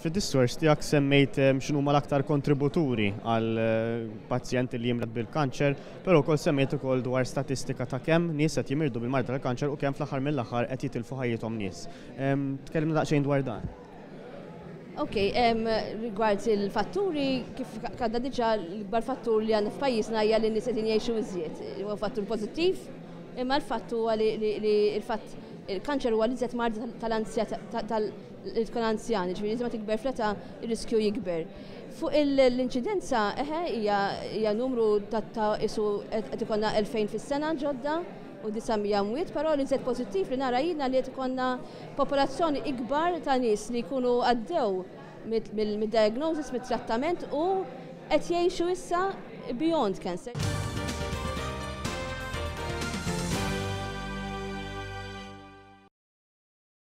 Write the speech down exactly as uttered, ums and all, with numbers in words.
Fid-diskors tiegħek semmejt x'inhuma l-aktar kontributuri għal pazjenti li jimrad bil-kanċer, però wkoll semmejt ukoll dwar statistika ta' kemm nies qed jimirdu bil-marda tal-kanċer u kemm fl-aħħar mill-aħħar qed jitilfu ħajjithom nies. Tkellimna daqsxejn dwar dan. Ok, rigward il-fatturi, kif għedna diġà, l-ikbar fattur li għandna f'pajjiżna hija li n-nies qegħdin jgħixu iżjed. Huwa fattur pożittiv, imma l-fatt huwa li il-fatt il-kanċer huwa l-iżjed marda tal-anzja li tkun anzjan, ġifieri ma tikber fl-età, ir-riskju jikber. Fuq l-inċidenza, eħe, hija numru ta' isu qed ikollna elfejn fis-sena ġodda u disa' mija mwiet, però li żed pożittiv li nara jiena li qed ikollna popolazzjoni ikbar ta' nies li jkunu għaddew mid-diagnosis, mid-trattament u qed jgħixu issa beyond cancer.